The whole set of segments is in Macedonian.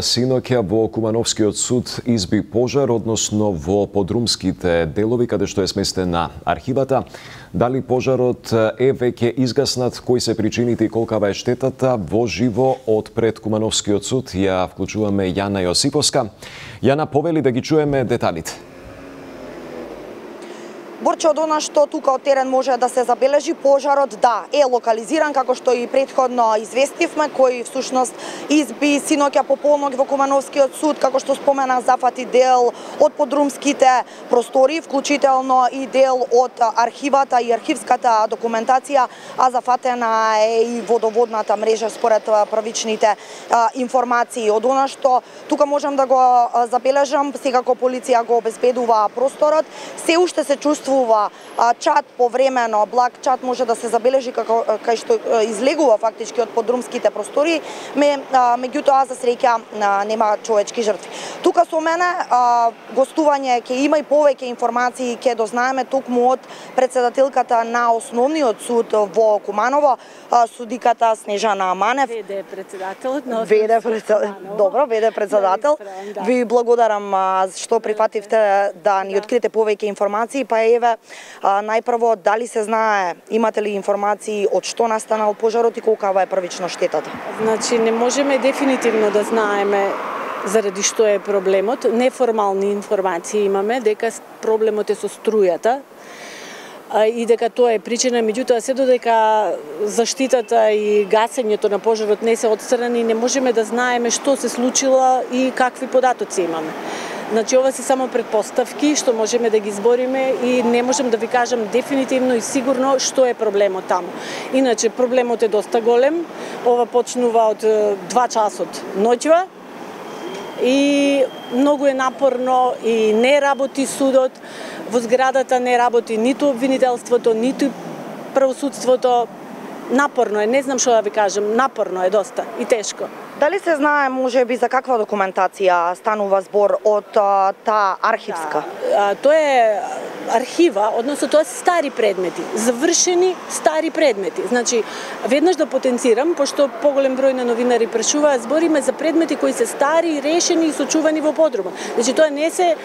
Синоќа во Кумановскиот суд изби пожар, односно во подрумските делови каде што е сместена архивата. Дали пожарот е веќе изгаснат, кои се причините и колкава е штетата, во живо од пред Кумановскиот суд ја вклучуваме Јана Јосиповска. Јана, повели да ги чуеме деталите. Борче, од она што тука од терен може да се забележи, пожарот е локализиран, како што и претходно известивме, кој всушност изби синоќа по полног во Кумановскиот суд, како што споменах, зафати дел од подрумските простори, вклучително и дел од архивата и архивската документација, а зафатена е и водоводната мрежа според првичните информации. Од она што тука можам да го забележам, секако полиција го обезбедува просторот, се уште се чувствува чат повремено, благ чат може да се забележи кај што излегува фактички од подрумските простори, меѓутоа за среќа нема човечки жртви. Тука со мене гостување ќе има и повеќе информации, ќе дознаеме токму од председателката на Основниот суд во Куманово, судиката Снежана Манев. ВД председател. Добро, ВД председател. Ви благодарам што прифативте да ни откриете повеќе информации, па еве најпрво дали се знае, имате ли информации од што настанал пожарот и колкава е првично штетата? Значи не можеме дефинитивно да знаеме заради што е проблемот. Неформални информации имаме дека проблемот е со струјата и дека тоа е причина, меѓутоа се додека заштитата и гасењето на пожарот не се отстрани, не можеме да знаеме што се случило и какви податоци имаме. Значи, ова се само предпоставки што можеме да ги избориме и не можем да ви кажам дефинитивно и сигурно што е проблемот таму. Иначе, проблемот е доста голем. Ова почнува од 2 часот ноќва и многу е напорно и не работи судот. Во зградата не работи ниту обвинителството, ниту правосудството. Напорно е, не знам што да ви кажам, напорно е доста и тешко. Дали се знае можеби за каква документација станува збор од таа архивска? Тоа е архива, односно тоа се стари предмети, завршени стари предмети. Значи, веднаш да потенцирам, пошто поголем број на новинари прашуваат, збориме за предмети кои се стари, решени и сочувани во подрума. Значи, тоа не се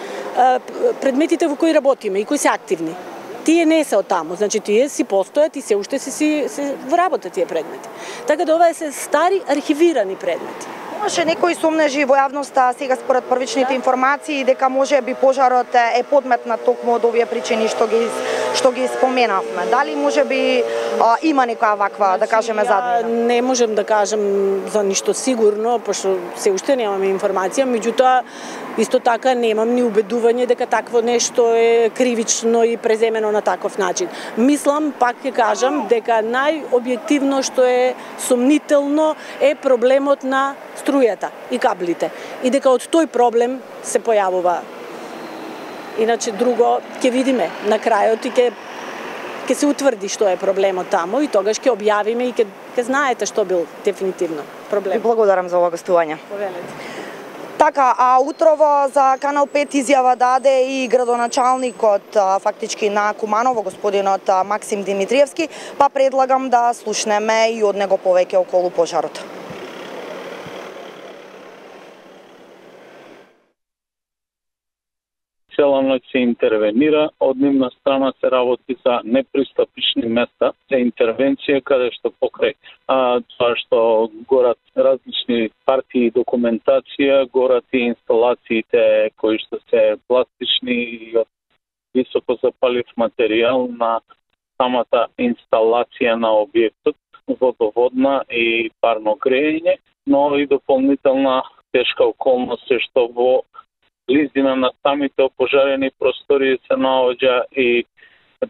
предметите во кои работиме и кои се активни. Тие не се од таму, значи тие си постојат и се уште се во работа тие предмети. Така да ова е се стари архивирани предмети. Имаше некои сомнежи во јавноста сега според првичните информации дека може би пожарот е подметнат токму од овие причини што ги споменавме. Дали може би има некоја ваква, да кажеме, заднина? Не можем да кажам за ништо сигурно, пошто се уште немаме информација, меѓутоа исто така немам ни убедување дека такво нешто е кривично и преземено на таков начин. Мислам, пак ќе кажам, дека најобјективно што е сомнително е проблемот на струјата и каблите. И дека од тој проблем се појавува. Иначе друго ќе видиме на крајот и ќе се утврди што е проблемот таму и тогаш ќе објавиме и ќе знаете што бил дефинитивно проблем. Ви благодарам за ова гостување. Повелете. Така, а утрово за Канал 5 изјава даде и градоначалникот фактички на Куманово, господинот Максим Димитриевски, па предлагам да слушнеме и од него повеќе околу пожарот. Цела ноќ се интервенира, од нивна страна се работи за непристапични места за интервенција, каде што покрај тоа што горат различни партии и документација, горат и инсталациите кои што се пластични и од високо запалив материјал на самата инсталација на објектот, водоводна и парно грејење, но и дополнителна тешка околност е што во близина на самите опожарени простори се наоѓа и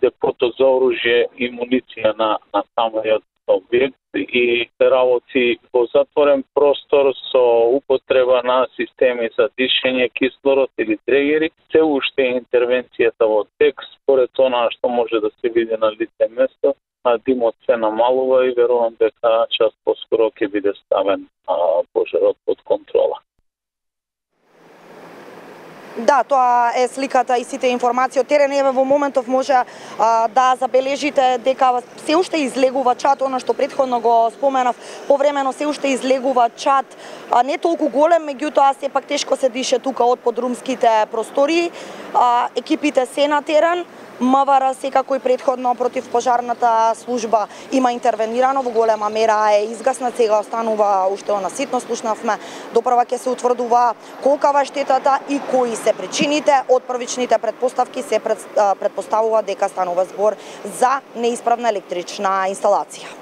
депото за оружје и муниција на самиот објект и работи во затворен простор со употреба на системи за дишење, кислород или дрегери. Се уште интервенцијата во тек, според она што може да се види на лице место, димот се намалува и верувам дека час поскоро ќе биде ставен пожарот под контрола. Да, тоа е сликата и сите информации од терен. Еве во моментов може да забележите дека се уште излегува чад, она што претходно го споменав, повремено се уште излегува чад, не толку голем, меѓутоа сепак тешко се дише тука од подрумските простории. Екипите се на терен. МВР секако и претходно против пожарната служба има интервенирано, во голема мера е изгаснат, сега останува уште она ситно, слушнавме, допрва ќе се утврдува колкава штетата и кои се причините. Од првичните претпоставки се претпоставува дека станува збор за неисправна електрична инсталација.